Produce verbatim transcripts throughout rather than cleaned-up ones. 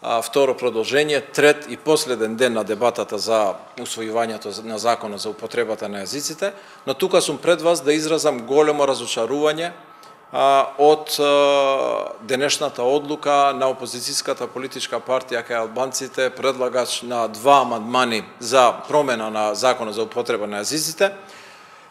второ продолжение, трет и последен ден на дебатата за усвојувањето на законот за употребата на јазиците, но тука сум пред вас да изразам големо разочарување од денешната одлука на опозицијската политичка партија кај албанците, предлагач на два амандмани за промена на законот за употреба на јазиците,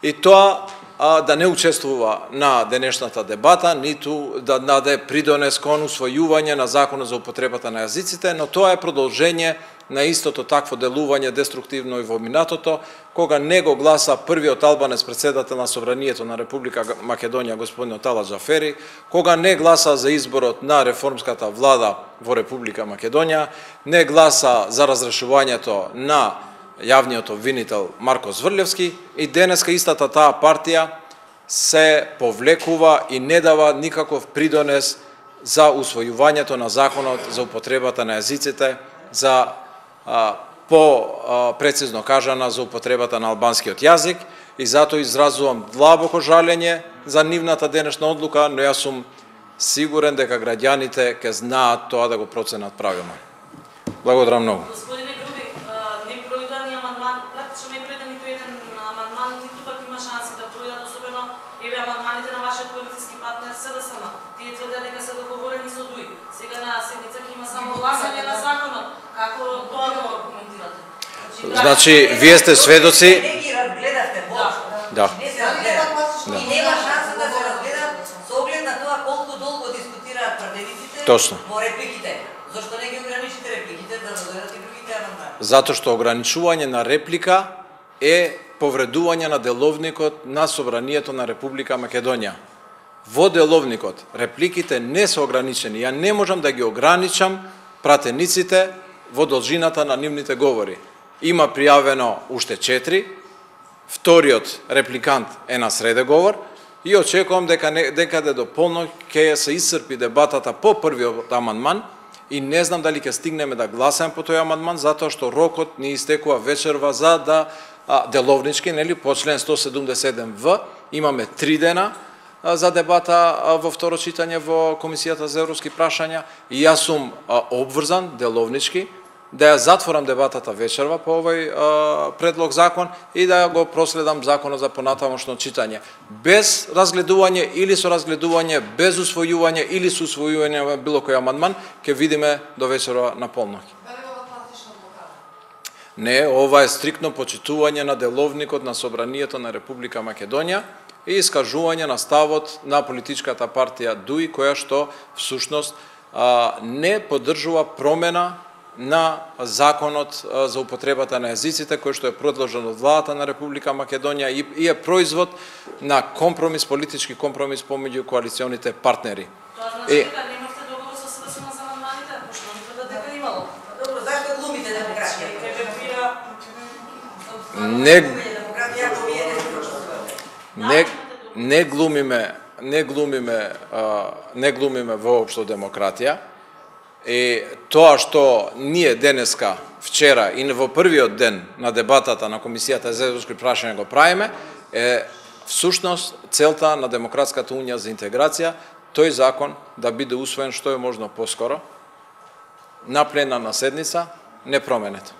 и тоа а, да не учествува на денешната дебата, ниту да даде придонес кон усвојување на законот за употребата на јазиците, но тоа е продолжение на истото такво делување деструктивно и во минатото, кога не го гласа првиот албанец председател на Собранието на Република Македонија, господин Тала Џафери, кога не гласа за изборот на реформската влада во Република Македонија, не гласа за разрешувањето на јавниот обвинител Марко Зврлевски, и денеска истата таа партија се повлекува и не дава никаков придонес за усвојувањето на законот за употребата на јазиците, за а, по а, прецизно кажана за употребата на албанскиот јазик, и затоа изразувам длабоко жалење за нивната денешна одлука, но јас сум сигурен дека граѓаните ќе знаат тоа да го проценат правилно. Благодарам многу. Амандманите на вашиот коалицијски партнер СДСМ, тие тврдат дека се договорени со ДУИ. Сега на седница ќе има само гласање на законот. Како тоа го аргументирате? Значи, вие сте сведоци. Не ги разгледавте воопшто. Да. И нема шанса да се разгледат со оглед на тоа колку долго дискутираат пратениците Точно. во репликите. Зошто не ги ограничите репликите да разгледат и другите амандмани? Затоа што ограничување на реплика е повредување на деловникот на Собранието на Република Македонија. Во деловникот репликите не се ограничени. Ја не можам да ги ограничам пратениците во должината на нивните говори. Има пријавено уште четири, вториот репликант е на среде говор, и очекувам дека некаде до полноќ ќе се исцрпи дебатата по првиот амандман, и не знам дали ќе стигнеме да гласаме по тој амандман, затоа што рокот ни истекува вечерва за да а, деловнички, нели, по член сто седумдесет и седум в, имаме три дена а, за дебата а, во второ читање во Комисијата за европски прашања, и јас сум а, обврзан деловнички да ја затворам дебатата вечерва по овој а, предлог закон и да го проследам законот за понатамошно читање. Без разгледување или со разгледување, без усвојување или со усвојување на било кој амандман, ќе видиме до вечерва на полноќ. Не, ова е стриктно почитување на деловникот на Собранието на Република Македонија и искажување на ставот на политичката партија ДУИ, која што всушност а, не поддржува промена на законот за употребата на јазиците, кој што е предложен од владата на Република Македонија и, и е производ на компромис, политички компромис помеѓу коалиционите партнери. Тоа значи дека немавте договор со СДСМ за амандманите, пошто ни тврдат дека имало. Добро, зашто глумите демократија? Не, не, не глумиме, не глумиме, а, не глумиме воопшто демократија. И тоа што ние денеска, вчера и во првиот ден на дебатата на Комисијата за европски прашања го правиме, е всушност целта на Демократската унија за интеграција, тој закон да биде усвоен што е можно поскоро на пленарна седница, непроменет.